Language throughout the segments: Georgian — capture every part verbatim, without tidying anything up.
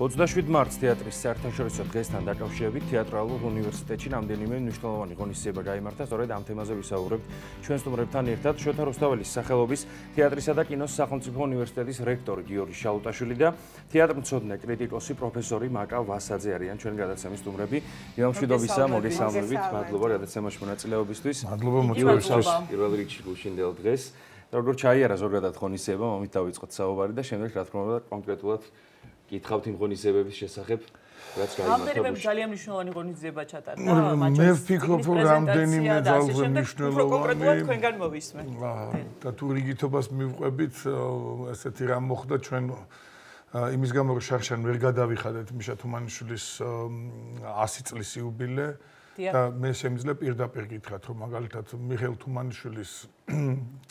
ოცდაშვიდ მარტს თეატრის საერთაშორისო დღესთან დაკავშირებით თეატრალურ უნივერსიტეტში რამდენიმე მნიშვნელოვანი ღონისძიება გაიმართა. სწორედ ამ თემაზე ვისაუბრებთ ჩვენ სტუმრებთან ერთად. შოთა რუსთაველის სახელობის თეატრისა და კინოს სახელმწიფო უნივერსიტეტის რექტორი გიორგი შალუტაშვილი და თეატრმცოდნე კრიტიკოსი პროფესორი მაკა ვასაძე არიან ჩვენი გადაცემის სტუმრები. მშვიდობისა, მოგესალმებით. მადლობა გადაცემაში მონაწილეობისთვის. მადლობა მოწვევისთვის. პირველ რიგში გუშინდელ დღეს. როგორ ჩაიარა ზოგადად ღონისძიება, მომით დავიწყოთ საუბარი და შემდეგ რა თქმა უნდა კონკრეტულად გითხავთ იმ ღონისძიებების შესახებ, რაც გაიმართა. რამდენიმე ძალიან მნიშვნელოვანი ღონისძიება ჩატარდა. მე ვფიქრობ, რომ რამდენიმე ძალიან მნიშვნელოვანი. კონკრეტულად თქვენგან მოვისმე. და თუ რიგითობას მივყვებით, ესეთი რამ მოხდა ჩვენ იმის გამო რომ შარშან ვერ გადავიხადეთ მიშა თუმანიშვილის ასი წლის იუბილე და მე შემიძლია პირდაპირ გითხრათ, რომ მაგალითად მიხეილ თუმანიშვილის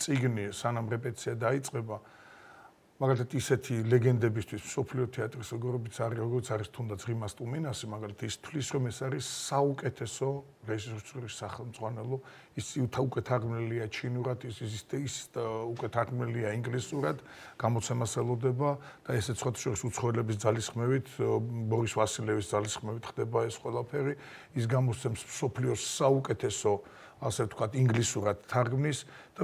წიგნი სანამ რეპეტიცია დაიწყება მაგალითად ისეთი ლეგენდებისთვის მსოფლიო თეატრის როგორიც არის, როგორც არის თუნდაც რიმას ტუმინასი, მაგალითად ის თვლის, რომ ეს არის საუკეთესო რეჟისორის სახელმძღვანელო, ის უკვე თარგმნილია ჩინურად, ის ის უკვე თარგმნილია ინგლისურად, გამოცემას ელოდება და ესეც სხვა შორის უცხოელების ძალისხმევით, ბორის ვასილევის ძალისხმევით ხდება ეს ყველაფერი, ის გამოსცემს მსოფლიოს საუკეთესო ასე ვთქვათ ინგლისურად თარგმნის და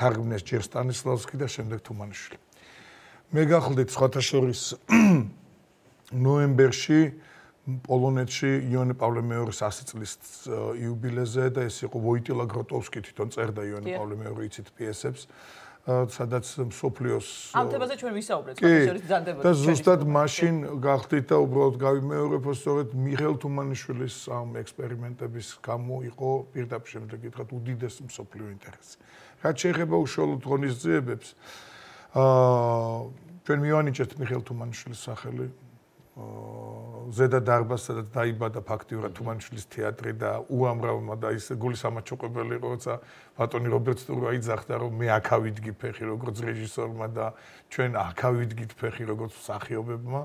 თარგმნეს ჯერ სტანისლავსკი და შემდეგ თუმანიშვილი. მე გახლდით სხვათა შორის ნოემბერში პოლონეთში იონე პავლე მეორის ასი წლის იუბილეზე და ეს იყო ვოიტილა გროტოვსკი თვითონ წერდა იონე პავლე მეორე იცით პიესებს, სადაც მსოფლიოს ამ თემაზე ჩვენ ვისაუბრეთ სხვათა შორის ბრძანდებოდა. და ზუსტად მაშინ გახლდით და უბრალოდ გავიმეორებ, სწორედ მიხეილ თუმანიშვილის ამ ექსპერიმენტების გამო იყო პირდაპირ შემდეგ გითხრათ უდიდესი მსოფლიო ინტერესი. რაც შეეხება უშუალოდ ღონისძიებებს, აა ჩვენ მივანიჭეთ მიხეილ თუმანიშვილის სახელი ზედა დარბაზს, სადაც დაიბადა ფაქტიურად თუმანიშვილის თეატრი და უამრავმა და ის გულისამაჩუყებელი იყო, როცა ბატონი რობერტ სტურვა იძახდა, რომ მე აქ ავიდგი ფეხი როგორც რეჟისორმა და ჩვენ აქ ავიდგით ფეხი როგორც მსახიობებმა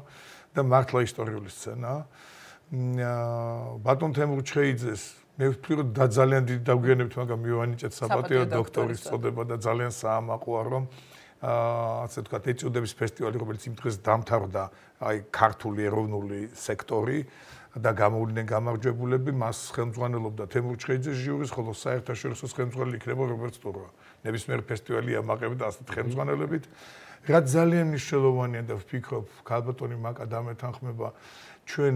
და მართლა ისტორიული სცენაა. ბატონ თემურ ჩხეიძეს მე ვფიქრობ, რომ და ძალიან დიდი დაგვიანებით, მაგრამ მივანიჭეთ საპატიო დოქტორის წოდება და ძალიან საამაყოა, რომ ასე ვთქვათ, ეწოდების ფესტივალი, რომელიც იმ დღეს დამთავრდა, აი ქართული ეროვნული სექტორი და გამოვიდნენ გამარჯვებულები, მას ხელმძღვანელობდა თემურ ჩხეიძეს ჟიურის, ხოლო საერთაშორისო ხელმძღვანელი იქნება რობერტ სტურვა. ნებისმიერ ფესტივალი ამაყებდა ასეთ ხელმძღვანელობით. რაც ძალიან მნიშვნელოვანია და ვფიქრობ, ქალბატონი მაკა დამეთანხმება, ჩვენ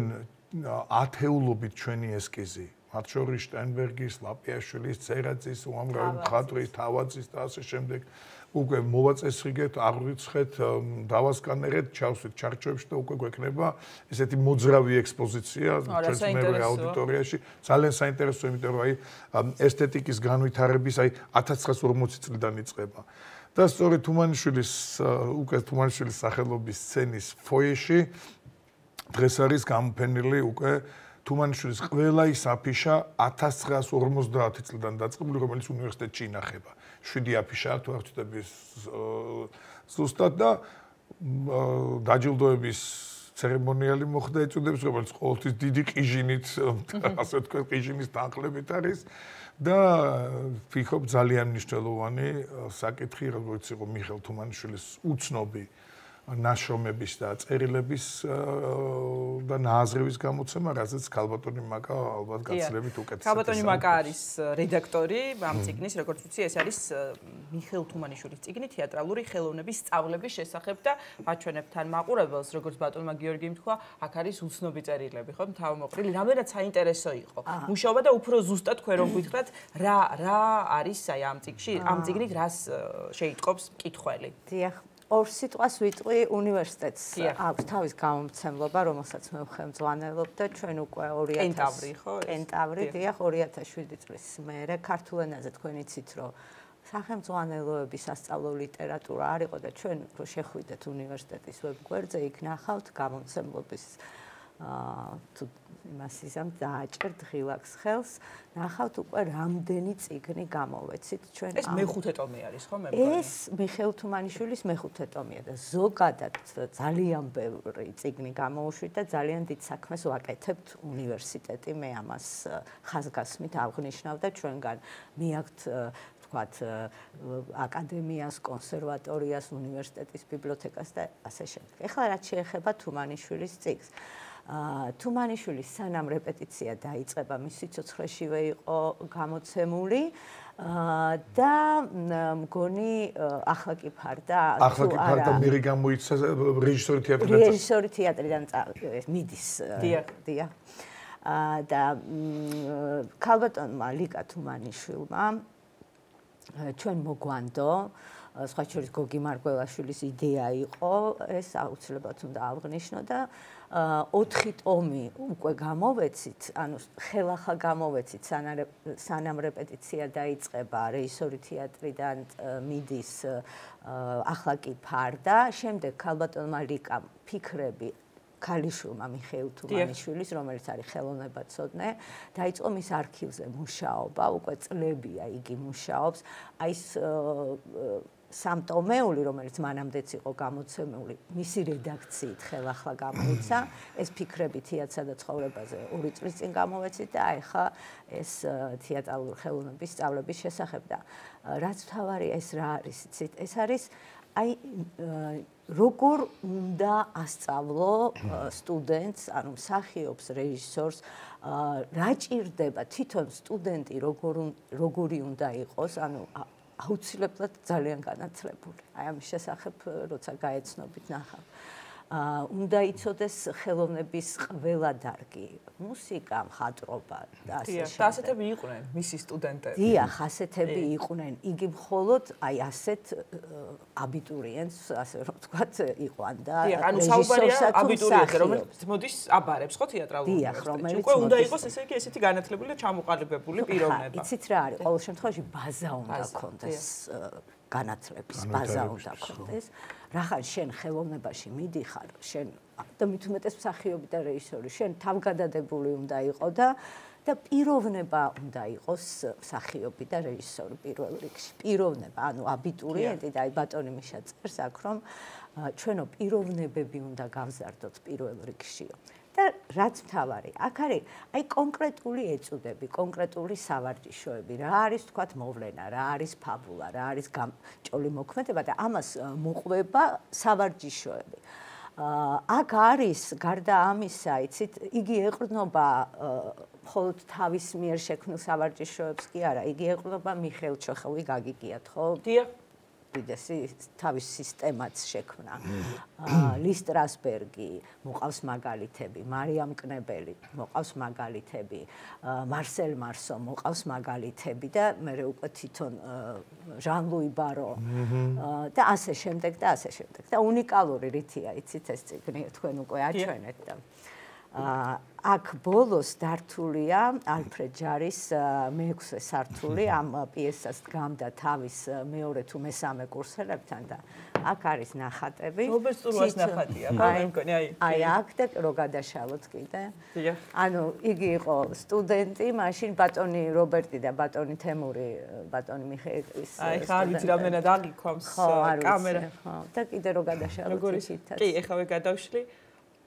ათეულობით ჩვენი ესკიზი, მათ შორის შტაინბერგის, ლაპიაშვილის, ცერაძის, უამრავი მხატვრის, თავაძის და ასე შემდეგ უკვე მოვაწესრიგეთ, აღვიცხეთ, დავასკანერეთ, ჩავსვით ჩარჩოებში და უკვე გვექნება ესეთი მოძრავი ექსპოზიცია ჩვენს მეორე აუდიტორიაში. ძალიან საინტერესო, იმიტომ რომ აი ესთეტიკის განვითარების აი ათას ცხრაასი ორმოცი წლიდან იწყება. და სწორედ თუმანიშვილის უკვე თუმანიშვილის სახელობის სცენის ფოიეში დღეს არის გამოფენილი უკვე თუმანიშვილის ყველა ის აფიშა ათას ცხრაასი ორმოცდაათი წლიდან დაწყებული, რომელიც უნივერსიტეტში ინახება. შვიდი აფიშაა თუ არ ვწდები ზუსტად და დაჯილდოების ცერემონიალი მოხდა ეწოდებს, რომელიც ყოველთვის დიდი ყიჟინით, ასე ვთქვათ, ყიჟინის თანხლებით არის და ვფიქრობ ძალიან მნიშვნელოვანი საკითხი, როგორც იყო მიხეილ თუმანიშვილის უცნობი ნაშრომების და წერილების და ნააზრევის გამოცემა, რაზეც ქალბატონი მაკა ალბათ გაცილებით უკეთესად. ქალბატონი მაკა არის რედაქტორი ამ წიგნის, როგორც ვიცი, ეს არის მიხეილ თუმანიშვილის წიგნი თეატრალური ხელოვნების სწავლების შესახებ და ვაჩვენებ თან მაყურებელს, როგორც ბატონმა გიორგიმ თქვა, აქ არის უცნობი წერილები, ხო, თავმოყრილი, რამდენად საინტერესო იყო. მუშაობა და უფრო ზუსტად თქვენ რომ გითხრათ, რა რა არის აი ამ წიგნში, ამ წიგნით რას შეიტყობს მკითხველი. დიახ. ორ სიტყვას ვიტყვი უნივერსიტეტს აქვს თავის გამომცემლობა, რომელსაც მე ვხელმძღვანელობ და ჩვენ უკვე ორი ათას კენტავრი ხო? კენტავრი, დიახ, ორი ათას შვიდი წლის მერე ქართულ ენაზე თქვენ იცით, რომ სახელმძღვანელოების სასწავლო ლიტერატურა არ იყო და ჩვენ რო შეხვიდეთ უნივერსიტეტის ვებგვერდზე, იქ ნახავთ გამომცემლობის აა თუ იმას ისამ დააჭერთ ღილაკს ხელს, ნახავთ უკვე რამდენი წიგნი გამოვეცით ჩვენ. ეს მეხუთე ტომი არის ხო მე? ეს მიხეილ თუმანიშვილის მეხუთე ტომია და ზოგადად ძალიან ბევრი წიგნი გამოუშვით და ძალიან დიდ საქმეს ვაკეთებთ უნივერსიტეტი, მე ამას ხაზგასმით აღნიშნავ და ჩვენგან მიაქვთ ვთქვათ, აკადემიას, კონსერვატორიას, უნივერსიტეტის ბიბლიოთეკას და ასე შემდეგ. ეხლა რაც შეეხება თუმანიშვილის წიგნს. თუმანიშვილის სანამ რეპეტიცია დაიწყება, მის სიცოცხლეშივე იყო გამოცემული და მგონი ახლა კი ფარდა ახლა კი ფარდა მერი გამოიცა რეჟისორი თეატრიდან რეჟისორი თეატრიდან მიდის დიახ და ქალბატონმა ლიკა თუმანიშვილმა ჩვენ მოგვანდო სხვა შორის გოგი მარგველაშვილის იდეა იყო ეს აუცილებლად უნდა აღნიშნო და ოთხი ტომი უკვე გამოვეცით, ანუ ხელახლა გამოვეცით, სანამ რეპეტიცია დაიწყება, რეჟისორი თეატრიდან მიდის, ახლა კი ფარდა, შემდეგ ქალბატონმა ლიკამ ფიქრები ქალიშვილმა მიხეილ თუმანიშვილის, რომელიც არის ხელოვნებაცოდნე, დაიწყო მის არქივზე მუშაობა, უკვე წლებია იგი მუშაობს, აი ეს სამტომეული, რომელიც მანამდეც იყო გამოცემული, მისი რედაქციით ხელახლა გამოიცა, ეს ფიქრები თეატრსა და ცხოვრებაზე ორი წლის წინ გამოვეცით და ახლა ეს თეატრალური ხელოვნების სწავლების შესახებ და რაც თავარია ეს რა არის, იცით, ეს არის აი როგორ უნდა ასწავლო სტუდენტს, ანუ მსახიობს, რეჟისორს, რა ჭირდება თვითონ სტუდენტი როგორი უნდა იყოს, ანუ აუცილებლად ძალიან განათლებული. აი ამის შესახებ როცა გაეცნობით ნახავ. უნდა იცოდეს ხელოვნების ყველა დარგი, მუსიკა, მხატვრობა და ასე შემდეგ. და ასეთები იყვნენ მისი სტუდენტები. დიახ, ასეთები იყვნენ. იგი მხოლოდ აი ასეთ აბიტურიენტს, ასე რომ ვთქვათ, იყვან და ანუ საუბარია აბიტურიენტზე, რომელიც მოდის აბარებს ხო თეატრალურ უნივერსიტეტში. უკვე უნდა იყოს ესე იგი ესეთი განათლებული და ჩამოყალიბებული პიროვნება. იცით რა არის, ყოველ შემთხვევაში ბაზა უნდა ქონდეს. განათლების ბაზა უნდა ქონდეს. რახან შენ ხელოვნებაში მიდიხარ, შენ და მით უმეტეს მსახიობი და რეჟისორი, შენ თავგადადებული უნდა იყო და და პიროვნება უნდა იყოს მსახიობი და რეჟისორი პირველ რიგში. პიროვნება, ანუ აბიტურიენტი და აი ბატონი მიშა წერს აქ, რომ ჩვენო პიროვნებები უნდა გავზარდოთ პირველ რიგშიო. და რაც მთავარი, აქ არის აი კონკრეტული ეწოდები, კონკრეტული სავარჯიშოები, რა არის თქვათ მოვლენა, რა არის ფაბულა, რა არის გამჭოლი მოქმედება და ამას მოყვება სავარჯიშოები. აქ არის გარდა ამისა, იცით, იგი ეყრდნობა მხოლოდ თავის მიერ შექმნილ სავარჯიშოებს კი არა, იგი ეყრდნობა მიხეილ ჩოხოვი გაგიგიათ, ხო? დიახ. უდიდესი თავის სისტემაც შექმნა. ლის სტრასბერგი, მოყავს მაგალითები, მარიამ კნებელი, მოყავს მაგალითები, მარსელ მარსო, მოყავს მაგალითები და მე უკვე თვითონ ჟან ლუი ბარო და ასე შემდეგ და ასე შემდეგ. და უნიკალური რითია, იცით ეს წიგნი თქვენ უკვე აჩვენეთ და აქ ბოლოს დართულია ალფრედ ჯარის მეექვსე სართული ამ პიესას დგამდა თავის მეორე თუ მესამე კურსელებთან და აქ არის ნახატები. რობერტ სტურუას ნახატია, მე მგონი აი. აი აქ და რო გადაშალოთ კიდე. ანუ იგი იყო სტუდენტი, მაშინ ბატონი რობერტი და ბატონი თემური, ბატონი მიხეილის. აი ხა არ ვიცი რამდენად აგიქვამს კამერა. ხო, და კიდე რო გადაშალოთ იქითაც. კი, ეხავე გადავშლი.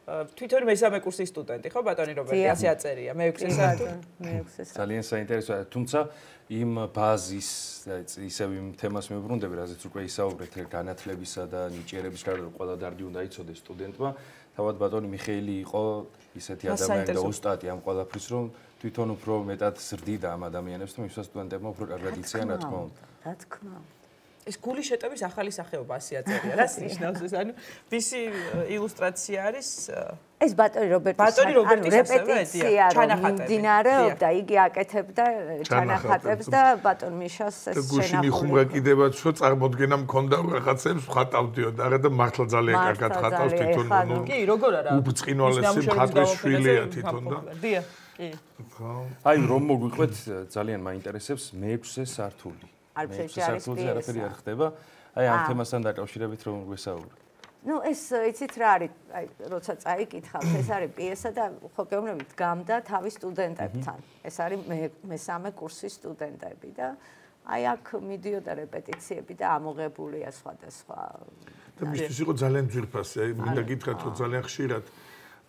თვითონ მესამე კურსის სტუდენტი ხო ბატონი რობერტი ასე აწერია მეექვსე სართული მეექვსე სართული ძალიან საინტერესოა თუმცა იმ ბაზის ისევ იმ თემას მივბრუნდები რაზეც უკვე ისაუბრეთ განათლებისა და ნიჭიერების გარდა ყველა დარგი უნდა იცოდეს სტუდენტმა თავად ბატონი მიხეილი იყო ისეთი ადამიანი და ოსტატი ამ ყველაფრის რომ თვითონ უფრო მეტად ზრდიდა ამ ადამიანებს და მისვა სტუდენტებმა უფრო კარგად იციან რა თქმა უნდა რა თქმა უნდა ეს გული შეტევის ახალი სახეობა ასე აწერია. რას ნიშნავს ეს? ანუ ვისი ილუსტრაცია არის? ეს ბატონი რობერტის ბატონი რობერტის რეპეტიცია ჩანახატებდა, იგი აკეთებდა ჩანახატებს და ბატონ მიშას ეს შენახული. გუში მიხუმრა კიდევაც რომ წარმოდგენა მქონდა რაღაცებს ხატავდიო და არა და მართლა ძალიან კარგად ხატავს თვითონ. კი, როგორ არა? უბწყინვალესი მხატვრის შვილია თვითონ და. დიახ, კი. აი რომ მოგვიყვეთ ძალიან მაინტერესებს მეექვსე სართული. ალფრედ ჯარის პიესა. არ ხდება. აი ამ თემასთან დაკავშირებით რომ გვესაუბრე. ნუ ეს იცით რა არის, აი როცა წაიკითხავთ, ეს არის პიესა და ხო გეუბნებით გამდა თავის სტუდენტებთან. ეს არის მესამე კურსის სტუდენტები და აი აქ მიდიოდა რეპეტიციები და ამოღებულია სხვადასხვა. და მისთვის იყო ძალიან ძვირფასი, აი მინდა გითხრათ რომ ძალიან ხშირად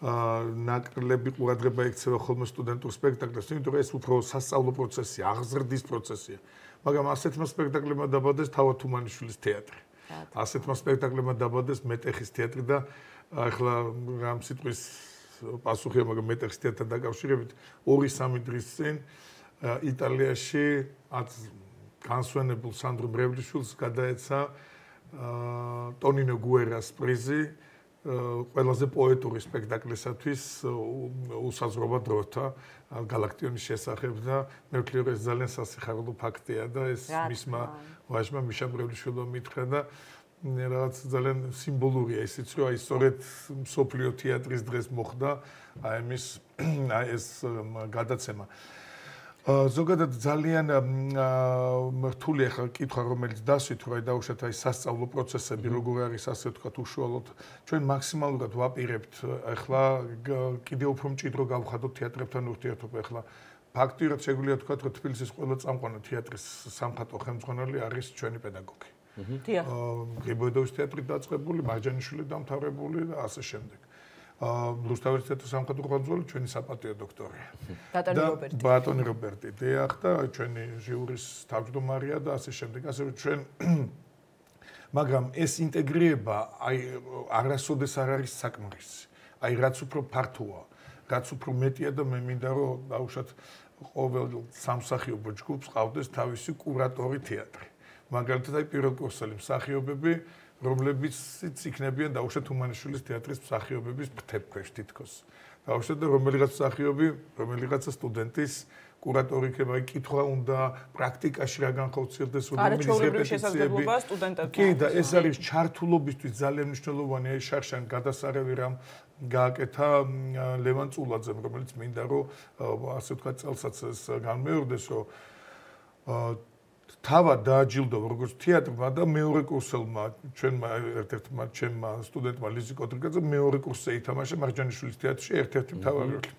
ნაკლები ყურადღება ექცევა ხოლმე სტუდენტურ სპექტაკლებს, იმიტომ რომ ეს უფრო სასწავლო პროცესია, აღზრდის პროცესია. მაგრამ ასეთმა სპექტაკლებმა დაბადეს თავად თუმანიშვილის თეატრი. ასეთმა სპექტაკლებმა დაბადეს მეტეხის თეატრი და ახლა რამ სიტყვის პასუხია, მაგრამ მეტეხის თეატრთან დაკავშირებით ორი სამი დღის წინ იტალიაში განსვენებულ სანდრო მრევლიშვილს გადაეცა ტონინო გუერას პრიზი ყველაზე პოეტური სპექტაკლისათვის უსაზღვრობა დროთა გალაქტიონის შესახებ და მე ვქნი რომ ეს ძალიან სასიხარულო ფაქტია და ეს მისმა ვაჟმა მიშა მრევლიშვილი მითხრა და რაღაც ძალიან სიმბოლურია ისიც რომ აი სწორედ მსოფლიო თეატრის დღეს მოხდა აი ეს აი ეს გადაცემა ზოგადად ძალიან რთული ახლა კითხვა რომელიც დასვით რომ აი დაუშვათ აი სასწავლო პროცესები როგორ არის ასე ვთქვათ უშუალოდ ჩვენ მაქსიმალურად ვაპირებთ ახლა კიდევ უფრო მჭიდრო გავხადოთ თეატრებთან ურთიერთობა ახლა ფაქტიურად შეგვიძლია ვთქვათ რომ თბილისის ყველა წამყვანი თეატრის სამხატვრო ხელმძღვანელი არის ჩვენი პედაგოგი. დიახ. გრიბოედოვის თეატრი დაწყებული, მარჯანიშვილი დამთავრებული და ასე შემდეგ. რუსთავის თეატრის სამხატვრო ხელმძღვანელი ჩვენი საპატიო დოქტორია. ბატონი რობერტი. ბატონი რობერტი, დიახ და ჩვენი ჟიურის თავმჯდომარეა და ასე შემდეგ. ასე რომ ჩვენ მაგრამ ეს ინტეგრირება აი არასოდეს არ არის საკმარისი. აი რაც უფრო ფართოა, რაც უფრო მეტია და მე მინდა რომ დაუშვათ ყოველ სამსახიობო ჯგუფს ყავდეს თავისი კურატორი თეატრი. მაგალითად აი პირველკურსელი მსახიობები რომლებიც იქნებიან დაუშვათ თუმანიშვილის თეატრის მსახიობების ფრთებქვეშ თითქოს. დაუშვათ და რომელიღაც მსახიობი, რომელიღაცა სტუდენტის კურატორი იქნება, აი კითხვა უნდა პრაქტიკაში რა განხორციელდეს რომელი შესაძლებლობა სტუდენტებთან. კი და ეს არის ჩართულობისთვის ძალიან მნიშვნელოვანი აი შარშან გადასარევი რამ გააკეთა ლევან წულაძემ, რომელიც მინდა რომ ასე ვთქვათ წელსაც ეს განმეორდეს, რომ თავად დააჯილდოვა როგორც თეატრმა და მეორე კურსელმა ჩვენმა ერთ-ერთმა ჩემმა სტუდენტმა ლიზი კოდრიკაძემ მეორე კურსზე ითამაშა მარჯანიშვილის თეატრში ერთ-ერთი მთავარი როლი.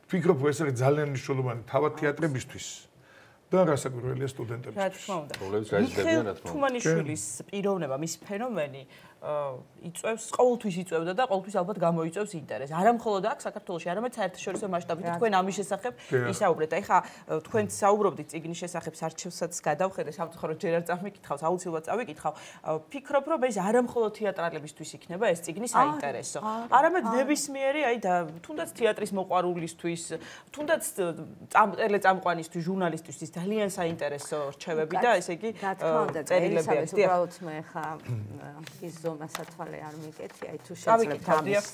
ვფიქრობ, ეს არის ძალიან მნიშვნელოვანი თავად თეატრებისთვის და რასაკვირველია სტუდენტებისთვის. რა თქმა უნდა. პრობლემის გაიზრდებიან რა თქმა უნდა. თუმანიშვილის პიროვნება, მის ფენომენი იწევს, ყოველთვის იწევდა და ყოველთვის ალბათ გამოიწევს ინტერესს. არა მხოლოდ აქ საქართველოში, არამედ საერთაშორისო მასშტაბით თქვენ ამის შესახებ ისაუბრეთ. აი ხა თქვენ საუბრობდით წიგნის შესახებ არჩევსაც გადავხედე, სამწუხაროდ ჯერ არ წამიკითხავს, აუცილებლად წავიკითხავ. ფიქრობ, რომ ეს არა მხოლოდ თეატრალებისთვის იქნება ეს წიგნი საინტერესო. არამედ ნებისმიერი, აი და თუნდაც თეატრის მოყვარულისთვის, თუნდაც ტელეწამყვანისთვის, ჟურნალისტისთვის ძალიან საინტერესო რჩევები და ესე იგი წერილებია. უბრალოდ მე ხა ის მასათვალე არ მიკეთი, აი თუ შეძლებთ ამის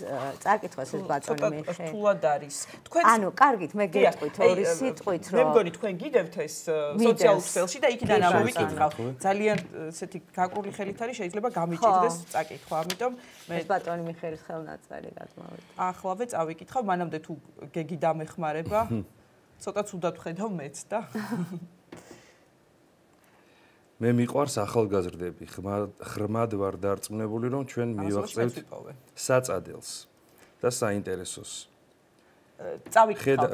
წაკითხვას ეს ბატონი მიხე. რთულად არის. თქვენ ანუ კარგით, მე გეტყვით ორი სიტყვით რომ მე მგონი თქვენ გიდევთ ეს სოციალურ ქსელში და იქიდან ამოვიკითხავ. ძალიან ესეთი გაკრული ხელით არის, შეიძლება გამიჭირდეს წაკითხვა. ამიტომ მე ბატონი მიხერის ხელნაწერი გადმოვედი. ახლავე წავიკითხავ, მანამდე თუ გეგი დამეხმარება, ცოტა ცუდად ვხედავ მეც და მე მიყვარს ახალგაზრდები, ხრმად ვარ დარწმუნებული, რომ ჩვენ მივაღწევთ საწადელს და საინტერესოს. წავიკითხავ.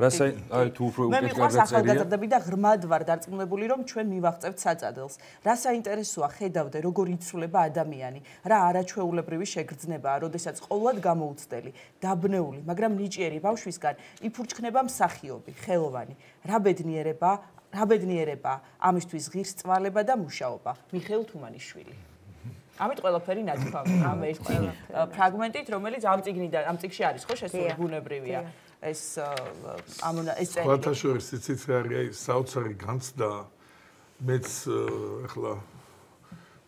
აი თუ უფრო მე მიყვარს ახალგაზრდები და ხრმად ვარ დარწმუნებული, რომ ჩვენ მივაღწევთ საწადელს. რა საინტერესოა ხედავდე, როგორ იცვლება ადამიანი, რა არაჩვეულებრივი შეგრძნებაა, როდესაც ყოვლად გამოუცდელი, დაბნეული, მაგრამ ნიჭიერი ბავშვისგან იფურჩქნება მსახიობი, ხელოვანი. რა ბედნიერება რა ბედნიერება ამისთვის ღირს წვალება და მუშაობა. მიხეილ თუმანიშვილი. ამით ყველაფერი ნათქვამია. ამ ერთი ფრაგმენტით, რომელიც ამ წიგნიდან, ამ წიგში არის, ხო, შესული ბუნებრივია. ეს ამ ეს წერილი. სხვათა შორის იცით რა არის, აი საოცარი განცდა მეც ახლა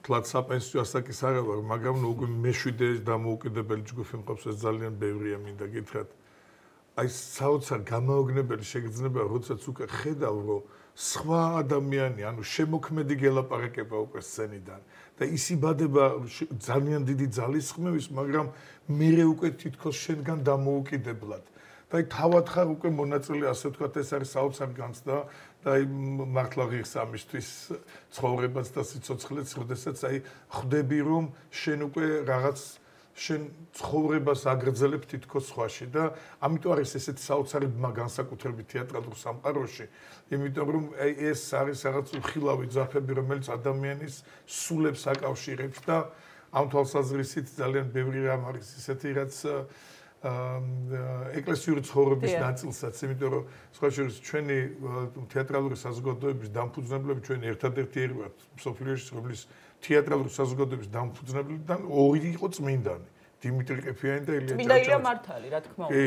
თლაც საპენსიო ასაკის არა ვარ, მაგრამ უკვე მეშვიდე დამოუკიდებელი ჯგუფი მყავს, ეს ძალიან ბევრია მინდა გითხრათ. აი საოცარ გამაოგნებელი შეგრძნება, როდესაც უკვე ხედავ, რომ სხვა ადამიანი, ანუ შემოქმედი გელაპარაკება უკვე სცენიდან და ისიბადება ძალიან დიდი ძალისხმევის, მაგრამ მერე უკვე თითქოს შენგან დამოუკიდებლად. და აი თავად ხარ უკვე მონაწილე, ასე ვთქვათ, ეს არის საოცარ განცდა და აი მართლა ღირს ამისთვის ცხოვრებას და სიცოცხლეც, როდესაც აი ხვდები, რომ შენ უკვე რაღაც შენ ცხოვრებას აგრძელებ თითქოს სხვაში და ამიტომ არის ესეთი საოცარი ბმა განსაკუთრებით თეატრალურ სამყაროში, იმიტომ რომ ეს არის რაღაც უხილავი ძაფები, რომელიც ადამიანის სულებს აკავშირებს და ამ თვალსაზრისით ძალიან ბევრი რამ არის ისეთი, რაც ეკლესიური ცხოვრების ნაწილსაც, იმიტომ რომ სხვა შორის ჩვენი თეატრალური საზოგადოების დამფუძნებლები ჩვენ ერთადერთი ერია მსოფლიოში, რომლის თეატრალური საზოგადოების დამფუძნებლებიდან ორი იყო წმინდანი. დიმიტრი ყიფიანი და ილია ჭავჭავაძე. წმინდა ილია მართალი, რა თქმა უნდა. კი,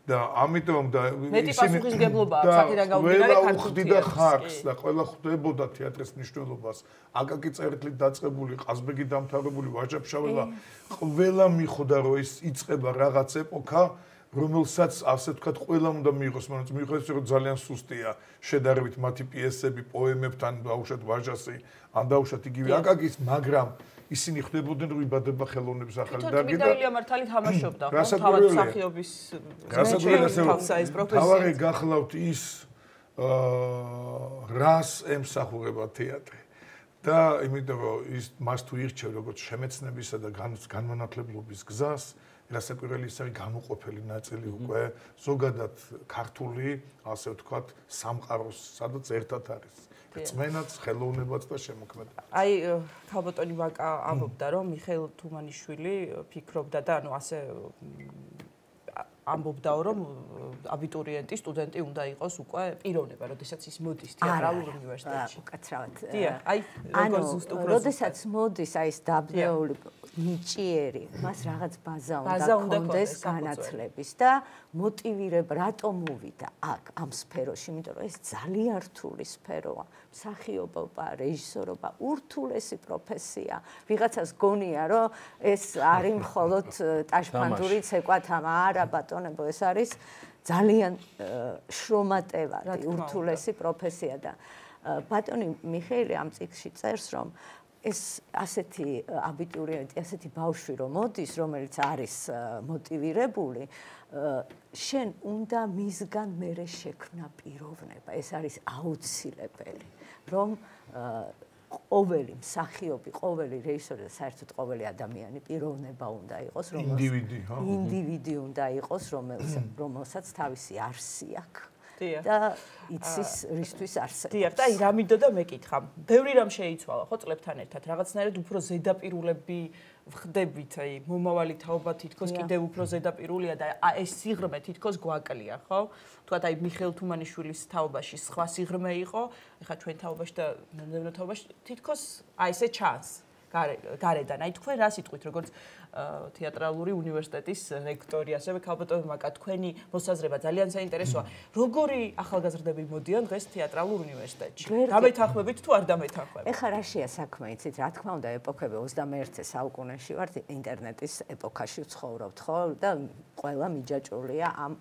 და ამიტომ და მეტი პასუხისმგებლობაა აქედან გამომდინარე ქართული და ხარკს და ყველა ხვდებოდა თეატრის მნიშვნელობას. აკაკი წერტლით დაწყებული, ყაზბეგი დამთავრებული, ვაჟა-ფშაველა, ყველა მიხვდა რომ ის იწყება რაღაც ეპოქა, რომელსაც ასე ვთქვათ, ყველამ უნდა მიიღოს, მაგრამ მიიღოს რომ ძალიან სუსტია შედარებით მათი პიესები, პოემებთან, დაუშვათ ვაჟასი, ან დაუშვათ იგივე აკაკის, მაგრამ ისინი ხვდებოდნენ რომ იბადება ხელოვნების ახალი დარგი და ილია მართალი თამაშობდა ხო თავად მსახიობის რასაკვირველია თავარი გახლავთ ის რას ემსახურება თეატრი და იმიტომ რომ ის მას თუ ირჩევ როგორც შემეცნებისა და განმანათლებლობის გზას რასაკვირველი ის არის განუყოფელი ნაწილი უკვე ზოგადად ქართული ასე ვთქვათ სამყაროს სადაც ერთად არის წმენაც, ხელოვნებაც და შემოქმედება. აი, ქალბატონი ვაკა ამბობდა, რომ მიხეილ თუმანიშვილი ფიქრობდა და ანუ ასე ამბობდაო, რომ აბიტურიენტი, სტუდენტი უნდა იყოს უკვე პიროვნება, როდესაც ის მოდის თეატრალურ უნივერსიტეტში. უკაცრავად. დიახ, აი, როგორ ზუსტ უფრო როდესაც მოდის აი ეს დაბნეული ნიჭიერი, მას რაღაც ბაზა უნდა კონდეს განათლების და მოტივირება, რატომ მოვიდა აქ ამ სფეროში, იმიტომ რომ ეს ძალიან რთული სფეროა. მსახიობობა, რეჟისორობა, ურთულესი პროფესია. ვიღაცას გონია, რომ ეს არის მხოლოდ ტაშფანდური ცეკვათამა, არა ბატონებო, ეს არის ძალიან შრომატევადი, ურთულესი პროფესია და ბატონი მიხეილი ამ წიგნში წერს, რომ ეს ასეთი აბიტურიენტი, ასეთი ბავშვი რომ მოდის, რომელიც არის მოტივირებული, შენ უნდა მისგან მერე შექმნა პიროვნება. ეს არის აუცილებელი, რომ ყოველი მსახიობი, ყოველი რეჟისორი და საერთოდ ყოველი ადამიანი პიროვნება უნდა იყოს, რომელიც ინდივიდი, ხო? ინდივიდი უნდა იყოს, რომელსაც თავისი არსი აქვს. და იცის რისთვის არსებობს. დიახ, და აი რა მინდო და მეკითხა. ბევრი რამ შეიცვალა, ხო, წლებთან ერთად. რაღაცნაირად უფრო ზედაპირულები ვხდებით, აი, მომავალი თაობა თითქოს კიდევ უფრო ზედაპირულია და ეს სიღრმე თითქოს გვაკლია, ხო? თქვათ აი მიხეილ თუმანიშვილის თაობაში სხვა სიღრმე იყო, ეხლა ჩვენ თაობაში და მომდევნო თაობაში თითქოს აი ესე ჩანს. გარედან. აი თქვენ რა სიტყვით, როგორც თეატრალური უნივერსიტეტის რექტორი, ასევე ქალბატონი მაკა, თქვენი მოსაზრება ძალიან საინტერესოა. როგორი ახალგაზრდები მოდიან დღეს თეატრალურ უნივერსიტეტში? დამეთანხმებით თუ არ დამეთანხმებით? ეხლა რაშია საქმე, იცით, რა თქმა უნდა, ეპოქები ოცდამეერთე საუკუნეში ვართ, ინტერნეტის ეპოქაში ვცხოვრობთ, ხო? და ყველა მიჯაჭვულია ამ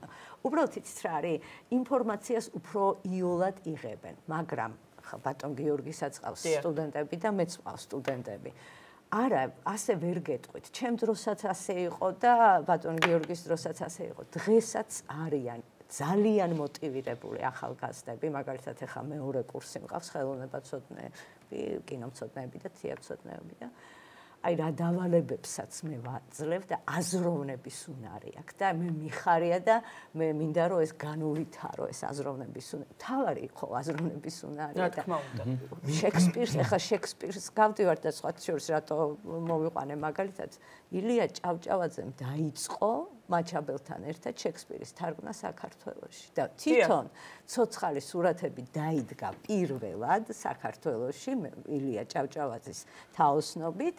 უბრალოდ იცით რა არის, ინფორმაციას უფრო იოლად იღებენ, მაგრამ ბატონ გიორგისაც ყავს სტუდენტები და მეც ყავს სტუდენტები. არა, ასე ვერ გეტყვით. ჩემ დროსაც ასე იყო და ბატონ გიორგის დროსაც ასე იყო. დღესაც არიან ძალიან მოტივირებული ახალგაზრდები, მაგალითად ეხა მეორე კურსი მყავს ხელოვნებაცოდნეები, კინომცოდნეები და თეატრცოდნეები და აი რა დავალებებსაც მე ვაძლევ და აზროვნების უნარი აქვს და მე მიხარია და მე მინდა რომ ეს განუვითარო ეს აზროვნების უნარი. თავარი ხო აზროვნების უნარი და რა თქმა უნდა. შექსპირს, ეხა შექსპირს გავდივარ და სხვა შორის რატო მოვიყვანე მაგალითად ილია ჭავჭავაძემ დაიწყო მაჩაბელთან ერთად შექსპირის თარგმნა საქართველოში და თვითონ ცოცხალი სურათები დაიდგა პირველად საქართველოში ილია ჭავჭავაძის თაოსნობით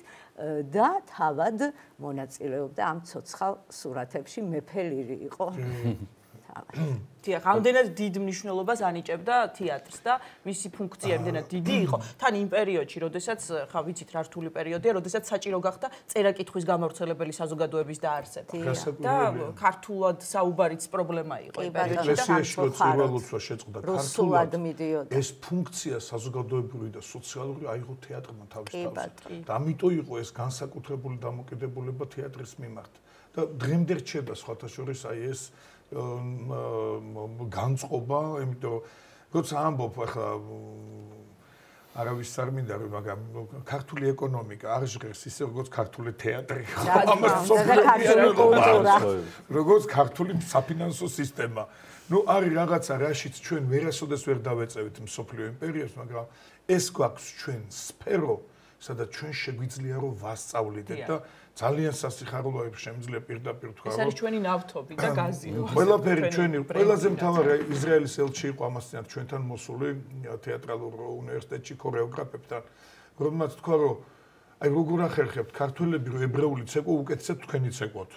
და თავად მონაწილეობდა ამ ცოცხალ სურათებში მეფე ლირი იყო. დიახ, ამდენად დიდ მნიშვნელობას ანიჭებდა თეატრს და მისი ფუნქცია ამდენად დიდი იყო. თან იმ პერიოდში, როდესაც ხა ვიცით რა რთული პერიოდია, როდესაც საჭირო გახდა წერა-კითხვის გამავრცელებელი საზოგადოების დაარსება. და ქართულად საუბარიც პრობლემა იყო იმ პერიოდში და ხალხო შეწყდა ქართულად მიდიოდა. ეს ფუნქცია საზოგადოებრივი და სოციალური აიღო თეატრმა თავის თავზე. და ამიტომ იყო ეს განსაკუთრებული დამოკიდებულება თეატრის მიმართ. და დღემდე რჩება სხვათა შორის აი ეს განწყობა, იმიტომ რომ როცა ამბობ ახლა არავის არ მინდა რომ მაგრამ ქართული ეკონომიკა არ ჟღერს ისე როგორც ქართული თეატრი. ამას კულტურა. როგორც ქართული საფინანსო სისტემა. ნუ არის რაღაცა რაშიც ჩვენ ვერასოდეს ვერ დავეწევით მსოფლიო იმპერიას, მაგრამ ეს გვაქვს ჩვენ სფერო, სადაც ჩვენ შეგვიძლია რომ ვასწავლიდეთ და ძალიან სასიხარულოა შემიძლია პირდაპირ თქვა რომ ეს არის ჩვენი ნავთობი და გაზი. ყველაფერი ჩვენი ყველაზე მთავარი ისრაელის ელჩი იყო ამასთან ჩვენთან მოსული თეატრალურ უნივერსიტეტში ქორეოგრაფებთან რომელმაც თქვა რომ აი როგორ ახერხებთ ქართველები რომ ებრაული ცეკვა უკეთესად თქვენი ცეკვოთ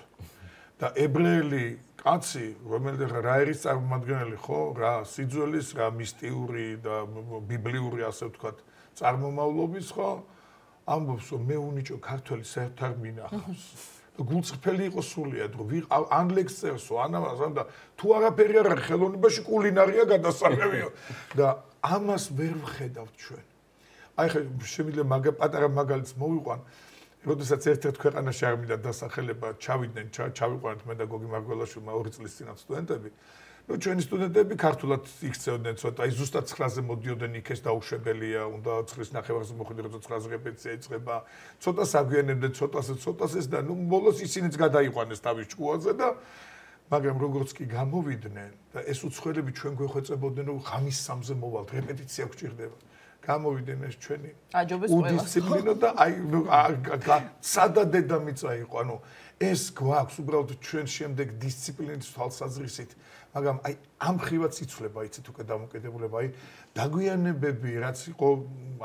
და ებრაელი კაცი რომელიც რა არის წარმომადგენელი ხო რა სიძველის რა მისტიური და ბიბლიური ასე ვთქვათ წარმომავლობის ხო ამბობს რომ მე უნიჭო ქართველი საერთოდ არ მინახავს და გულწრფელი იყო სულიად რომ ვიყავ ან ლექს წერსო ან ამას და თუ არაფერი არ არის ხელოვნებაში კულინარია გადასაღებია და ამას ვერ ვხედავთ ჩვენ აი ხე შემიძლია მაგა პატარა მაგალითს მოვიყვან როდესაც ერთ-ერთ ქვეყანაში არ მინდა დასახელება ჩავიდნენ ჩავიყვანეთ მე და გოგი მარგველაშვილმა ორი წლის წინათ სტუდენტები ნუ ჩვენი სტუდენტები ქართულად იქცეოდნენ ცოტა აი ზუსტად ცხრაზე მოდიოდნენ იქ ეს დაუშვებელია უნდა ცხრის ნახევარზე მოხვიდე როცა ცხრაზე რეპეტიცია იწყება ცოტა საგვიანებდნენ ცოტასე ცოტასეს და ნუ ბოლოს ისინიც გადაიყვანეს თავის ჭკუაზე და მაგრამ როგორც კი გამოვიდნენ და ეს უცხოელები ჩვენ გვეხვეწებოდნენ რომ ღამის სამზე მოვალთ რეპეტიცია გვჭირდება გამოვიდნენ ეს ჩვენი უდისციპლინო და აი სადა დედამიწა იყო ანუ ეს გვაქვს უბრალოდ ჩვენ შემდეგ დისციპლინის თვალსაზრისით მაგრამ აი ამ ხრივაც იცვლება იცით უკვე დამოკიდებულება აი დაგვიანებები რაც იყო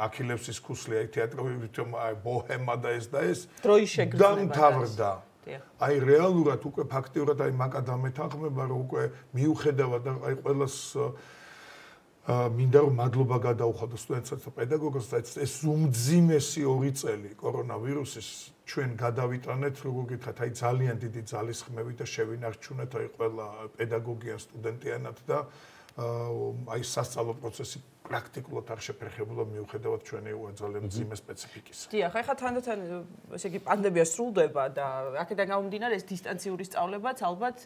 აქილევსის ქუსლი აი თეატრალური ბოჰემა და ეს და ეს დროის შეგრძნება დამთავრდა აი რეალურად უკვე ფაქტიურად აი მაკადამეთანხმება რომ უკვე მიუხედავად აი ყველას მინდა რომ მადლობა გადაუხადო სტუდენტებსაც და პედაგოგებსაც ეს უმძიმესი ორი წელი კორონავირუსის ჩვენ გადავიტანეთ როგორ გითხრათ აი ძალიან დიდი ძალისხმევით და შევინარჩუნეთ აი ყველა პედაგოგიან სტუდენტიანად და აი სასწავლო პროცესი პრაქტიკულად არ შეფერხებულა მიუხედავად ჩვენი ძალიან მძიმე სპეციფიკის. დიახ, ახლა თანდათან ესე იგი პანდემია სრულდება და აქედან გამომდინარე ეს დისტანციური სწავლებაც ალბათ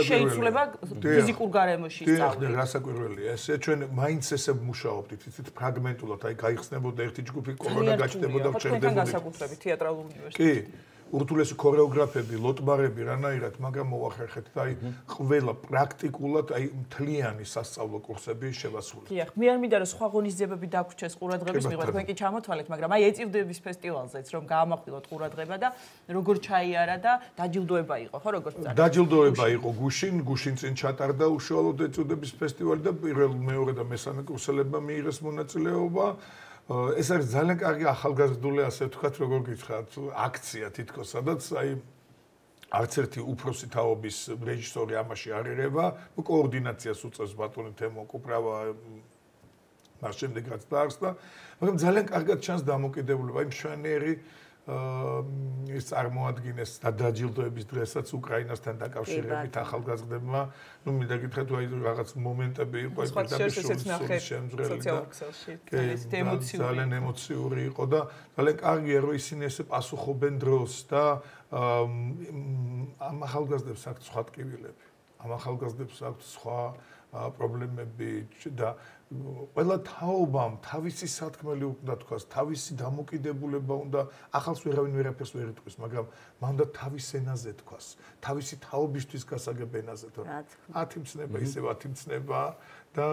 შეიცვლება ფიზიკურ გარემოში სწავლება. დიახ, რასაკვირველია. ესე ჩვენ მაინც ესე მუშაობდით, იცით, ფრაგმენტულად, აი გაიხსნებოდა ერთი ჯგუფი კორონა გაჩნდებოდა ვჩერდებოდით. თქვენ განსაკუთრებით თეატრალურ უნივერსიტეტში. ურთულესი ქორეოგრაფები, ლოტბარები რანაირად, მაგრამ მოახერხეთ და აი ყველა პრაქტიკულად აი მთლიანი სასწავლო კურსები შევასრულეთ. დიახ, მე არ მინდა რომ სხვა ღონისძიებები დაგვრჩეს ყურადღების მიღება, თქვენ კი ჩამოთვალეთ, მაგრამ აი ეწირდების ფესტივალზეც რომ გაამახვილოთ ყურადღება და როგორ ჩაიარა და დაჯილდოება იყო, ხო, როგორ წარდგა? დაჯილდოება იყო გუშინ, გუშინ წინ ჩატარდა უშუალოდ ეწირდების ფესტივალი და პირველ, მეორე და მესამე კურსელებმა მიიღეს მონაწილეობა. ეს არის ძალიან კარგი ახალგაზრდული ასე ვთქვათ როგორ გითხრათ აქცია თითქოს სადაც აი არც ერთი უფროსი თაობის რეჟისორი ამაში არ ერევა კოორდინაციას უწევს ბატონი თემო კუპრავა მას შემდეგ რაც დაარსდა მაგრამ ძალიან კარგად ჩანს დამოკიდებულება იმ მშვენიერი ის წარმოადგენს დაჯილდოების დღესაც უკრაინასთან დაკავშირებით ახალგაზრდებმა ну მინდა გითხრათ აი რაღაც მომენტები იყო ეს პირდაპირ შემძრელი და ძალიან ემოციური იყო და ძალიან კარგია რომ ისინი ესე პასუხობენ დროს და ამ ახალგაზრდებს აქვთ სხვა ტკივილები ამ ახალგაზრდებს აქვთ სხვა პრობლემები და ყველა თაობამ თავისი სათქმელი უნდა თქვას, თავისი დამოკიდებულება უნდა ახალს ვერავინ ვერაფერს ვერ იტყვის, მაგრამ მანდა თავის ენაზე თქვას, თავისი თაობისთვის გასაგებ ენაზე თუ ათი მცნება ისევ ათი მცნება და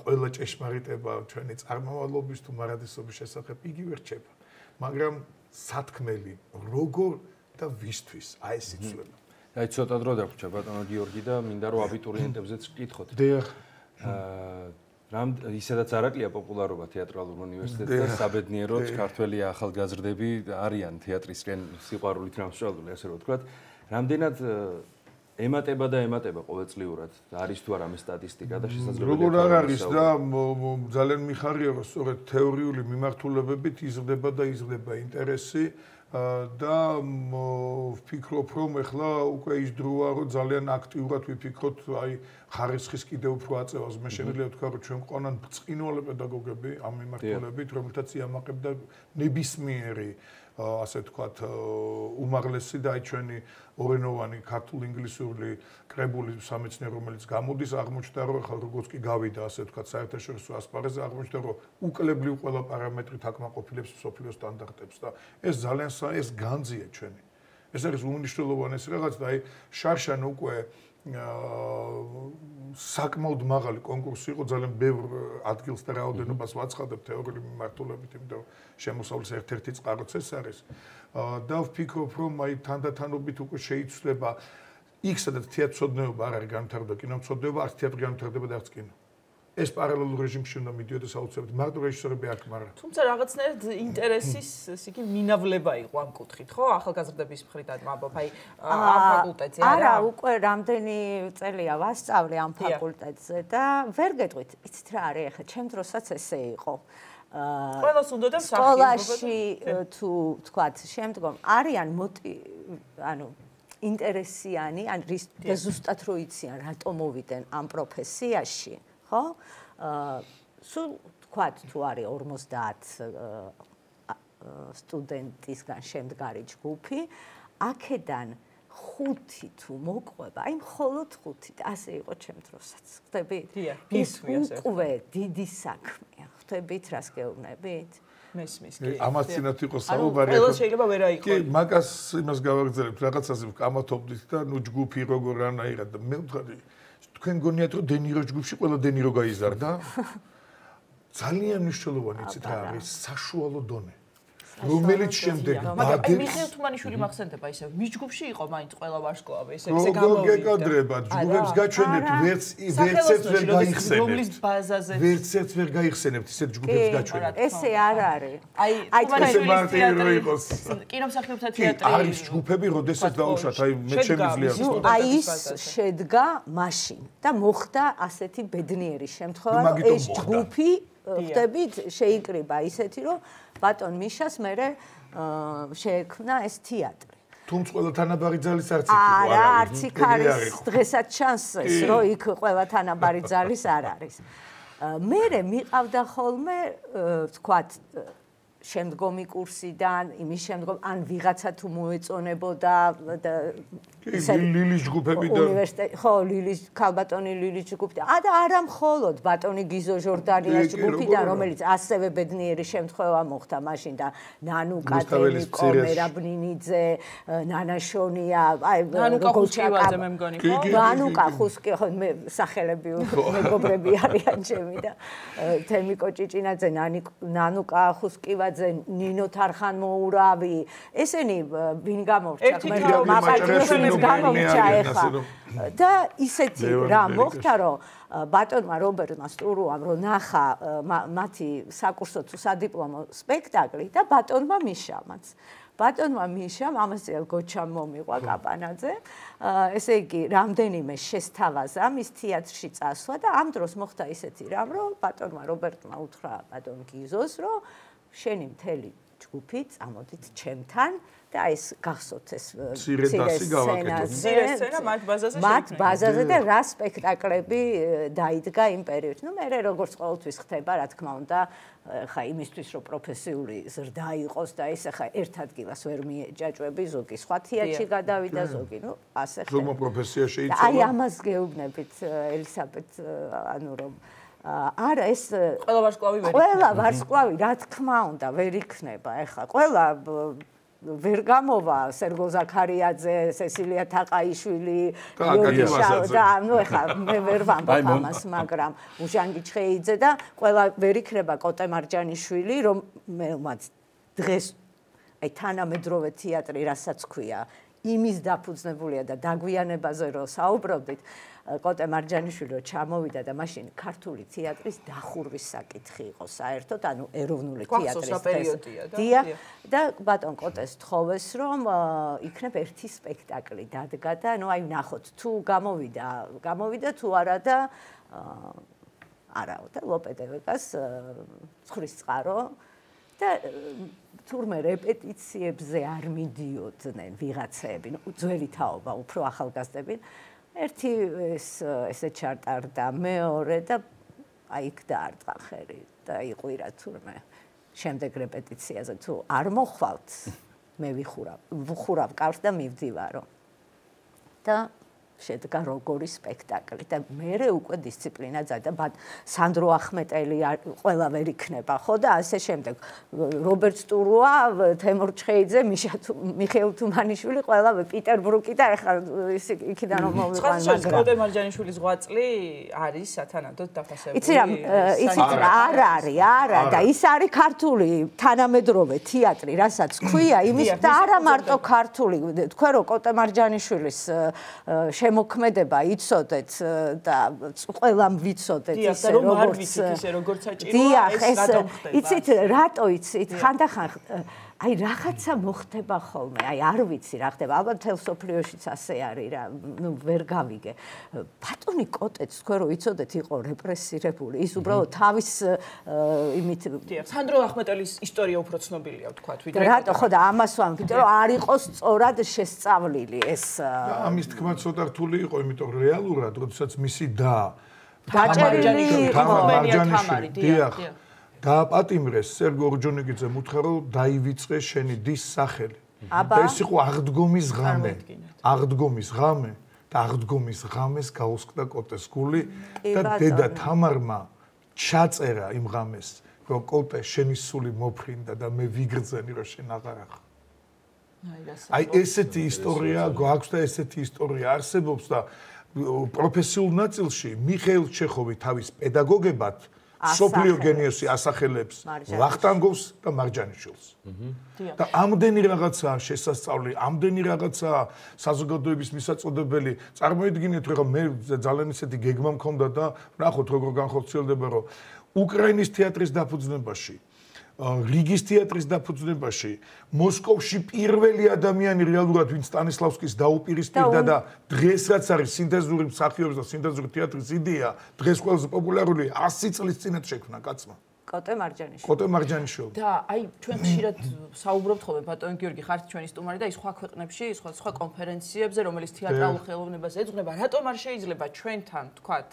ყველა ჭეშმარიტება ჩვენი წარმავალობის თუ მარადისობის შესახებ იგივე რჩება. მაგრამ სათქმელი როგორ და ვისთვის აი ეს იცვლება. აი ცოტა დრო დაგვრჩა ბატონო გიორგი და მინდა რომ აბიტურიენტებზეც ვკითხოთ. დიახ. აა რამ ისედაც არ აკლია პოპულარობა თეატრალურ უნივერსიტეტზე და საბედნიეროდ ქართველი ახალგაზრდები არიან თეატრისკენ სიყვარულით დამსწრებული ასე რომ ვთქვათ. რამდენად ემატება და ემატება ყოველწლიურად არის თუ არა მე სტატისტიკა და შესაძლებელია როგორ არ არის და ძალიან მიხარია რომ სწორედ თეორიული მიმართულებებით იზრდება და იზრდება ინტერესი და ვფიქრობ რომ ეხლა უკვე ის დროა რომ ძალიან აქტიურად ვიფიქროთ აი ხარისხის კიდევ უფრო აწევას მე შემიძლია ვთქვა რომ ჩვენ ყონან ბრწყინვალე პედაგოგები ამ მიმართულებით რომელთაც იამაყებდა ნებისმიერი ასე ვთქვათ უმაღლესი და აი ჩვენი ორენოვანი ქართულ-ინგლისური კრებული სამეცნიერო რომელიც გამოდის აღმოჩნდა რომ ახლა როგორც კი გავიდა ასე ვთქვათ საერთაშორისო ასპარეზზე აღმოჩნდა რომ უკლებლივ ყველა პარამეტრით აკმაყოფილებს მსოფლიო სტანდარტებს და ეს ძალიან ეს განძია ჩვენი ეს არის უმნიშვნელოვანესი რაღაც და აი შარშან უკვე საკმაოდ მაღალი კონკურსი იყო, ძალიან ბევრ ადგილს და რაოდენობას ვაცხადებ თეორიული მიმართულებით, იმიტომ რომ შემოსავლის ერთ-ერთი წყაროც ეს არის. და ვფიქრობ, რომ აი თანდათანობით უკვე შეიცვლება იქ, სადაც თეატრმცოდნეობა არ არის განვითარება, კინომცოდნეობა, არც თეატრი განვითარდება და არც კინო. ეს პარალელურ რეჟიმში უნდა მიდიოდეს აუცილებლად. მარტო რეჟისორები არ ხმარა. თუმცა რაღაცნაირად ინტერესის ესე იგი მინავლება იყო ამ კუთხით, ხო? ახალგაზრდების მხრიდან ვამბობ, აი ამ ფაკულტეტზე არა? არა, უკვე რამდენი წელია ვასწავლე ამ ფაკულტეტზე და ვერ გეტყვით, იცით რა არის ახლა, ჩემ დროსაც ესე იყო. ყველას უნდა და სკოლაში თუ თქვათ, შემდგომ არიან ანუ ინტერესიანი, ან ზუსტად რო იციან, რატომ მოვიდნენ ამ პროფესიაში. ხო? სულ თქვათ თუ არის ორმოცდაათ სტუდენტისგან შემდგარი ჯგუფი, აქედან ხუთი თუ მოყვება, აი მხოლოდ ხუთი, ასე იყო ჩემ დროსაც. ხტებით? ეს უკვე დიდი საქმეა. ხტებით, რას გეუბნებით? მესმის კი. ამას წინათ იყო საუბარი. ყველა შეიძლება ვერ აიყო. კი, მაგას იმას გავაგრძელებთ, რაღაცაზე ვკამათობდით და ნუ ჯგუფი როგორ რანაირად და მე ვთქვი თქვენ გონიათ რომ დენირო ჯგუფში ყველა დენირო გაიზარდა? ძალიან მნიშვნელოვანი იცით რა არის საშუალო დონე. რომელიც შემდეგ ბადებს აი მიხეილ თუმანიშვილი მახსენდება ისე მის ჯგუფში იყო მაინც ყველა ვარსკვლავი ესე ესე გამოვიდა. გეკადრება ჯგუფებს გაჩვენებთ ვერც ვერც ერთ ვერ გაიხსენებთ. რომლის ბაზაზე ვერც ერთ ვერ გაიხსენებთ ისეთ ჯგუფებს გაჩვენებთ. ესე არ არის. აი თუმანიშვილის თეატრი იყოს. კინომსახიობთა თეატრი არის ჯგუფები როდესაც დაუშვათ აი მე შემიძლია ვთქვა. აი ის შედგა მაშინ და მოხდა ასეთი ბედნიერი შემთხვევა რომ ეს ჯგუფი ხტებით შეიკრიბა ისეთი რომ ბატონ მიშას მერე შეექმნა ეს თეატრი. თუმცა ყველა თანაბარი ძალის არც იქ იყო არა, არც იქ არის დღესაც ჩანსეს, რომ იქ ყველა თანაბარი ძალის არ არის. მერე მიყავდა ხოლმე თქვათ შემდგომი კურსიდან, იმის შემდგომ ან ვიღაცა თუ მოეწონებოდა და ისე ლილის ჯგუფები და უნივერსიტეტი, ხო, ლილის ქალბატონი ლილის ჯგუფი და და არა მხოლოდ ბატონი გიზო ჟორდანიას ჯგუფიდან, რომელიც ასევე ბედნიერი შემთხვევა მოხდა მაშინ და ნანუკა ტელიკო, მერაბნინიძე, ნანაშონია, აი ნანუკა ხუსკივაძე მე მგონი, ხო? ნანუკა ხუსკი, ხო, მე სახელები მეგობრები არიან ჩემი და თემიკო ჭიჭინაძე, ნანუკა ხუსკივაძე ნინო თარხანმოურავი ესენი ვინ გამორჩა მე მაპატიოსებს გამორჩა ეხლა და ისეთი რა მოხდა რომ ბატონმა რობერტმა სტურუამ რო ნახა მათი საკურსო თუ სადიპლომო სპექტაკლი და ბატონმა მიშამაც ბატონმა მიშამ ამასწრაფ გოჩამ მომიყვა კაპანაძე ესე იგი რამდენიმე შესთავაზა მის თეატრში წასვლა და ამ დროს მოხდა ისეთი რამ რომ ბატონმა რობერტმა უთხრა ბატონ გიზოს რომ შენი მთელი ჯგუფი წამოდით ჩემთან და ეს გახსოვთ ეს მცირე დასი გავაკეთოთ. მცირე სცენა მათ ბაზაზე შეიქმნა. მათ ბაზაზე და რა სპექტაკლები დაიდგა იმ პერიოდში. ნუ მე როგორც ყოველთვის ხდება, რა თქმა უნდა, ხა იმისთვის რომ პროფესიული ზრდა იყოს და ის ხა ერთ ადგილას ვერ მიეჯაჭვები, ზოგი სხვა თეატრში გადავიდა, ზოგი, ნუ ასე ხდება. ზოგმა პროფესია შეიცვალა. აი ამას გეუბნებით ელისაბედ, ანუ რომ არა ეს ყველა ვარსკვლავი ვერ ყველა ვარსკვლავი რა თქმა უნდა ვერ იქნება ეხლა ყველა ვერ გამოვა სერგო ზაქარიაძე, სესილია თაყაიშვილი, და ნუ ეხლა მე ვერ ვამბობ ამას, მაგრამ უჟანგი ჩხეიძე და ყველა ვერ იქნება კოტე მარჯანიშვილი, რომ მელმაც დღეს აი თანამედროვე თეატრი რასაც ქვია, იმის დაფუძნებულია და დაგვიანებაზე რო საუბრობდით, კოტე მარჯანიშვილი რო ჩამოვიდა და მაშინ ქართული თეატრის დახურვის საკითხი იყო საერთოდ, ანუ ეროვნული თეატრის პერიოდია და ბატონ კოტეს თხოვეს რომ იქნებ ერთი სპექტაკლი დადგა და ნუ აი ნახოთ თუ გამოვიდა, გამოვიდა თუ არა და არაო და ლოპედევეკას ცხვრის წყარო და თურმე რეპეტიციებზე არ მიდიოდნენ ვიღაცები, ნუ ძველი თაობა, უფრო ახალგაზრდები. ერთი ეს ესე ჩარტარდა, მეორე და აი იქ დაარტყა ხერი და იყვირა თურმე შემდეგ რეპეტიციაზე თუ არ მოხვალთ, მე ვიხურავ, ვხურავ კარს და მივდივარო. და შედგა როგორი სპექტაკლი და მე უკვე დისციპლინა და სანდრო ახმეტელი ყველა ვერ იქნება ხო და ასე შემდეგ რობერტ სტურუა თემურ ჩხეიძე მიხეილ თუმანიშვილი ყველა პიტერბრუკი და ეხლა იქიდან რომ მოვიყვან მაგრამ კოდე მარჯანიშვილის ღვაწლი არის სათანადოდ დაფასებული იცი რა იცით რა არ არის არა და ის არის ქართული თანამედროვე თეატრი რასაც ქვია იმის და არა მარტო ქართული თქვენ რომ კოტე მარჯანიშვილის შემოქმედება იცოდეთ და ყველამ ვიცოდეთ ისე როგორც ისე როგორც საჭიროა ეს გადავხდება იცით რატო იცით ხანდახან აი რაღაცა მოხდება ხოლმე აი არ ვიცი რა ხდება ალბათ თელ სოფლიოშიც ასე არის რა ნუ ვერ გავიგე ბატონი კოტეც თქვენ რომ იცოდეთ იყო რეპრესირებული ის უბრალოდ თავის იმით სანდრო ახმეტელის ისტორია უფრო ცნობილია ვთქვათ ვიდრე რატო ხო და ამას ვამბობთ რომ არ იყო სწორად შესწავლილი ეს ამის თქმა ცოტა რთული იყო იმიტომ რომ რეალურად როდესაც მისი და დაჭერილი იყო მარჯანიშვილი დიახ დააპატიმრეს სერგო ორჯონიკიძემ უთხრა რომ დაივიწყე შენი დის სახელი და ეს იყო აღდგომის ღამე აღდგომის ღამე და აღდგომის ღამეს გაუსკდა კოტეს გული და დედა თამარმა ჩაწერა იმ ღამეს რომ კოტე შენი სული მოფრინდა და მე ვიგრძენი რომ შენ აღარ ახ აი ესეთი ისტორია გვაქვს და ესეთი ისტორია არსებობს და პროფესიულ ნაწილში მიხეილ ჩეხოვი თავის პედაგოგებად სოფლიო გენიოსი ასახელებს ვახტანგოვს და მარჯანიშვილს. და ამდენი რაღაცაა შესასწავლი, ამდენი რაღაცაა საზოგადოების მისაწოდებელი. წარმოიდგინეთ, რომ მე ძალიან ისეთი გეგმა მქონდა და ნახოთ როგორ განხორციელდება, რომ უკრაინის თეატრის დაფუძნებაში რიგის თეატრის დაფუძნებაში მოსკოვში პირველი ადამიანი რეალურად ვინც სტანისლავსკის დაუპირისპირდა და დღეს რაც არის სინთეზური მსახიობის და სინთეზური თეატრის იდეა დღეს ყველაზე პოპულარული ასი წლის წინათ შექმნა კაცმა კოტე მარჯანიშვილი კოტე მარჯანიშვილი და აი ჩვენ ხშირად საუბრობთ ხოლმე ბატონ გიორგი ხართ ჩვენი სტუმარი და ის სხვა ქვეყნებში სხვა სხვა კონფერენციებზე რომელიც თეატრალურ ხელოვნებას ეძღვნება რატომ არ შეიძლება ჩვენთან თქვათ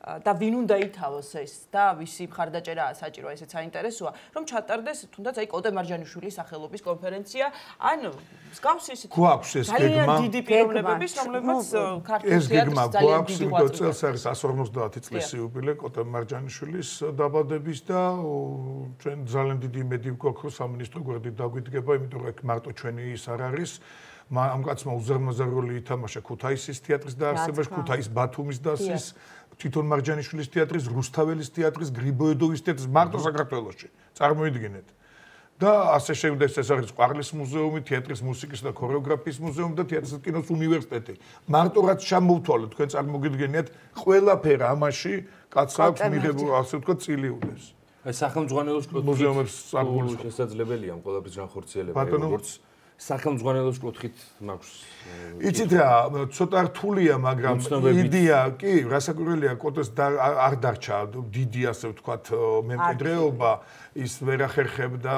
და ვინ უნდა ითავოს ეს და ვისი მხარდაჭერაა საჭირო ესეც საინტერესოა რომ ჩატარდეს თუნდაც აი კოტე მარჯანიშვილის სახელობის კონფერენცია ან მსგავს ისეთი გვაქვს ეს გეგმა ძალიან დიდი პიროვნებების რომლებიც ქართულ თეატრს ძალიან დიდი ღვაწლი წელს არის εκατს ორმოცდაათი წლის იუბილე კოტე მარჯანიშვილის დაბადების და ჩვენ ძალიან დიდი იმედი გვაქვს რომ სამინისტრო გვერდით დაგვიდგება იმიტომ რომ ეგ მარტო ჩვენი ის არ არის ამ კაცმა უზარმაზარი როლი ითამაშა ქუთაისის თეატრის დაარსებაში ქუთაის ბათუმის დასის თვითონ მარჯანიშვილის თეატრის, რუსთაველის თეატრის, გრიბოედოვის თეატრის მარტო საქართველოში. წარმოიდგინეთ. და ასე შემდეგ ეს არის ყვარლის მუზეუმი, თეატრის მუსიკის და ქორეოგრაფიის მუზეუმი და თეატრის და კინოს უნივერსიტეტი. მარტო რაც შემოვთვალეთ, თქვენ წარმოგიდგენიათ, ყველაფერი ამაში კაცს აქვს მიღებული, ასე ვთქვათ, წილიუდეს. აი სახელმძღვანელოს მუზეუმებს საგულს შესაძლებელია ამ ყველაფრის განხორციელება, როგორც სახელმძღვანელოს კუთხით მაქვს. იცით რა, ცოტა რთულია, მაგრამ იდეა კი, რასაკვირველია, კოტეს არ დარჩა დიდი ასე ვთქვათ მემკვიდრეობა, ის ვერ ახერხებდა,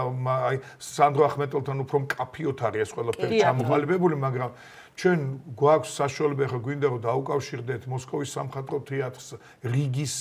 აი სანდრო ახმეტელთან უფრო მკაფიოდ არის ეს ყველაფერი ჩამოყალიბებული, მაგრამ ჩვენ გვაქვს საშუალება ხა გვინდა რომ დაუკავშირდეთ მოსკოვის სამხატვრო თეატრს, რიგის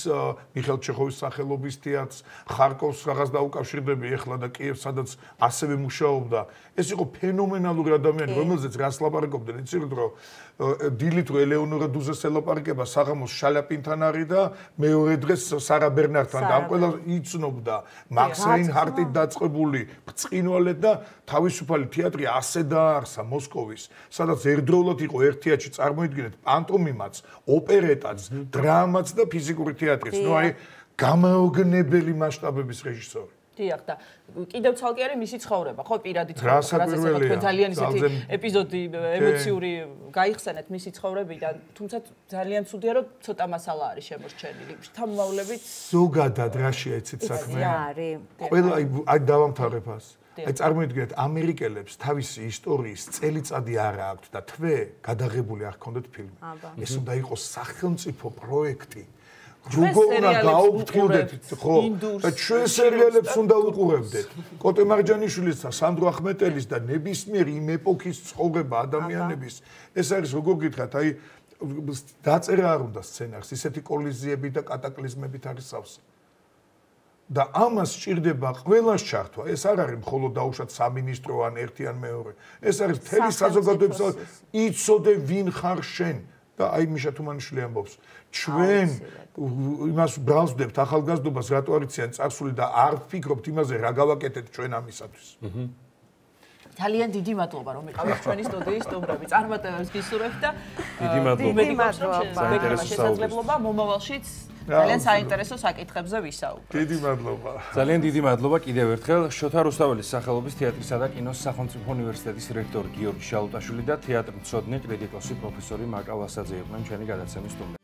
მიხეილ ჩეხოვის სახელობის თეატრს, ხარკოვს რაღაც დაუკავშირდები ეხლა და კიევს, სადაც ასევე მუშაობდა. ეს იყო ფენომენალური ადამიანი, რომელზეც რას ლაპარაკობდნენ, იცით რომ დილით რო ელეონორა დუზეს ელაპარაკება საღამოს შალიაპინთან არის და მეორე დღეს სარა ბერნართან და ამ ყველა იცნობდა მაქს რეინჰარტით დაწყებული ბრწყინვალე და თავისუფალი თეატრი ასე დაარსა მოსკოვის, სადაც ერთდროულად იყო ერთ თეატრში წარმოიდგინეთ პანტომიმაც, ოპერეტაც, დრამაც და ფიზიკური თეატრიც. ნუ აი გამაოგნებელი მასშტაბების რეჟისორი. დიახ და კიდევ ცალკე არის მისი ცხოვრება, ხო, პირადი ცხოვრება, რასაც თქვენ ძალიან ისეთი ეპიზოდი ემოციური გაიხსენეთ მისი ცხოვრებიდან, თუმცა ძალიან ცუდია რომ ცოტა მასალა არის შემორჩენილი. შთამომავლებით ზოგადად რაშია იცით საქმე? ყველა აი დავამთავრებ ას. აი წარმოიდგინეთ ამერიკელებს თავისი ისტორიის წელიწადი არ აქვთ და თვე გადაღებული არ ჰქონდათ ფილმი. ეს უნდა იყოს სახელმწიფო პროექტი. როგორ უნდა გაუფრთხილდეთ, ხო? და ჩვენ სერიალებს უნდა უყურებდეთ. კოტე მარჯანიშვილის და სანდრო ახმეტელის და ნებისმიერი იმ ეპოქის ცხოვრება ადამიანების. ეს არის როგორ გითხრათ, აი დაწერა არ უნდა სცენარს, ისეთი კოლიზიები და კატაკლიზმებით არის სავსე. და ამას სჭირდება ყველას ჩართვა. ეს არ არის მხოლოდ დაუშვათ სამინისტრო ან ერთი ან მეორე. ეს არის მთელი საზოგადოების იცოდე ვინ ხარ შენ. და აი მიშა თუმანიშვილი ამბობს ჩვენ იმას ბრალს ვდებთ ახალგაზრდობას რატო არიციან წარსული და არ ვფიქრობთ იმაზე რა გავაკეთეთ ჩვენ ამისათვის. ძალიან დიდი მადლობა რომ იყავით ჩვენი სტუდიის სტუმრები. წარმატებებს გისურვებთ და დიდი მადლობა. შესაძლებლობა მომავალშიც ძალიან საინტერესო საკითხებზე ვისაუბროთ. დიდი მადლობა. ძალიან დიდი მადლობა კიდევ ერთხელ შოთა რუსთაველის სახელობის თეატრისა და კინოს სახელმწიფო უნივერსიტეტის რექტორი გიორგი შალუტაშვილი და თეატრმცოდნე კრიტიკოსი პროფესორი მაკა ვასაძე იყვნენ ჩვენი გადაცემის სტუმრები.